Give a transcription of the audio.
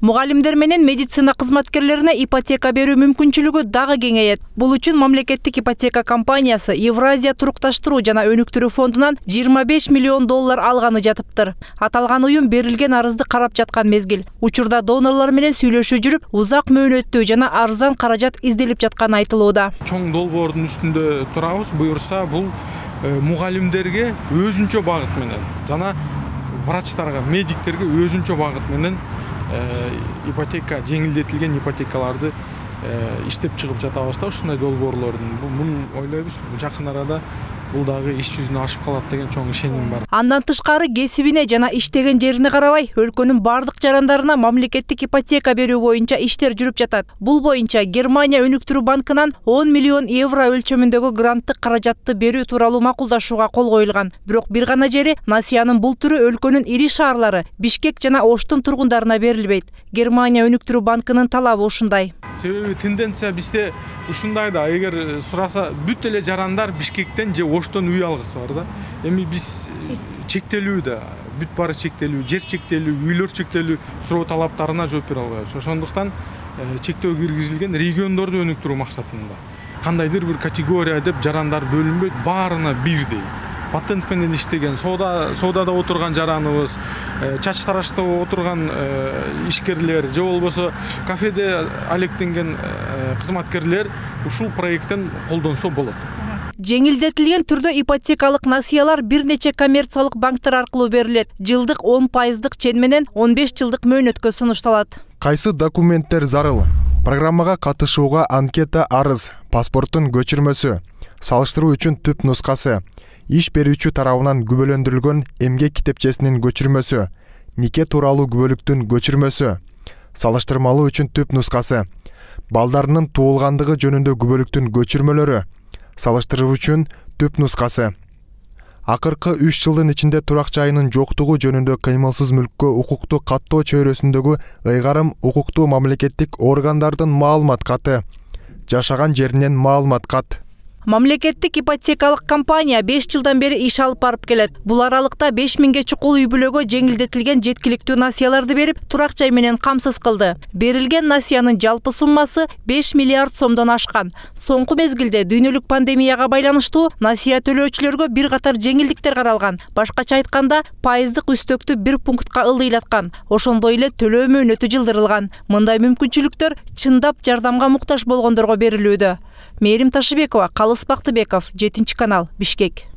Мугалимдер менен медицина кызматкерлерине ипотека берүү мүмкүнчүлүгү дагы кеңейет. Бул үчүн мамлекеттик ипотека компаниясы Евразия турукташтыруу жана өнүктүрүү фондунан 25 миллион доллар алганы жатыптыр. Аталган уюм берилген арызды карап жаткан мезгил. Учурда донорлор менен сүйлөшүү жүрүп, узак мөөнөттүү жана арзан каражат изделип жатканы айтылууда. Чоң долбоордун үстүндө турабыз. Буюрса бул мугалимдерге өзүнчө багыт менен жана врачтарга, медиктерге өзүнчө багыт менен ипотека, жеңилдетилген ипотекаларды иштеп чыгып жатабыз да, ушундай долбоорлордун. Муну ойлойбуз, жакын арада бул дагы иш жүзүнө ашып калат деген чоң ишеним бар. Андан тышкары кесибине жана иштеген жерине карабай, өлкөнүн бардык жарандарына мамлекеттик ипотека берүү боюнча иштер жүрүп жатат. Бул боюнча Германия өнүктүрүү банкынан 10 миллион евро өлчөмүндөгү гранттык каражатты берүү тууралуу макулдашууга кол коюлган. Бирок бир гана жери Насиянын бул түрү өлкөнүн ири шаарлары Бишкек жана Оштун тургундарына берилбейт. Германия өнүктүрүү банкынын талабы ушундай. Себеби тенденция бизде ушундай да, эгер сураса бүт эле жарандар Бишкектен же Оштон үй алгысы бар да. Эми биз чектелүү да, бүт баары чектелүү, жер чектелүү, үйлөр чектелүү суроо талаптарына жооп бере албайбыз. Ошондуктан чектөө киргизилген региондорду өнүктүрүү максатында. Кандайдыр бир категория деп жарандар бөлүнбөйт, баарына бирдей. Патент менен иштеген, соодада отурган жараныбыз, чач тарашта отурган ишкерлер, же болбосо кафеде алектенген кызматкерлер ушул проекттен колдонсо болот. Жеңилдетилген түрдө ипотекалык насыялар бир нече коммерциялык банктар аркылуу берилет. Жылдык 10% чен менен 15 жылдык мөөнөткө сунушталат. Кайсы документтер зарыл? Программага катышууга анкета арыз, паспорттун көчүрмөсү, салыштыруу үчүн түп нускасы, иш берүүчү тарабынан күбөлөндүрүлгөн эмгек китепчесинин көчүрмөсү, нике тууралуу күбөлүктүн көчүрмөсү, салыштырмалуу үчүн түп нускасы, балдарынын туулгандыгы жөнүндө күбөлүктүн көчүрмөлөрү, салыштыруу үчүн түп нускасы. Акыркы 3 жылдын ичинде турак жайынын жоктугу жөнүндө кыймылсыз мүлккө укукту каттоо чөйрөсүндөгү ыйгарым укуктуу мамлекеттик органдардын маалымат каты, жашаган жеринен маалымат кат. Мамлекеттик ипотекалык компания 5 жылдан бери иш алып барып келет. Бул аралыкта 5000ге чукул үй бүлөгө жеңилдетилген жеткиликтүү насыяларды берип, турак жай менен камсыз кылды. Берилген насыянын жалпы суммасы 5 миллиард сомдон ашкан. Соңку мезгилде дүйнөлүк пандемияга байланыштуу насыя төлөөчүлөргө бир катар жеңилдиктер каралган. Башкача айтканда, пайыздык үстөктү 1 пунктка ылдыйлаткан. Ошондой эле төлөө мөөнөтү жылдырылган. Мындай мүмкүнчүлүктөр чындап жардамга муктаж болгондорго берилүүдө. Мээрим Ташыбекова, Калыс Бактыбеков, 7 канал, Бишкек.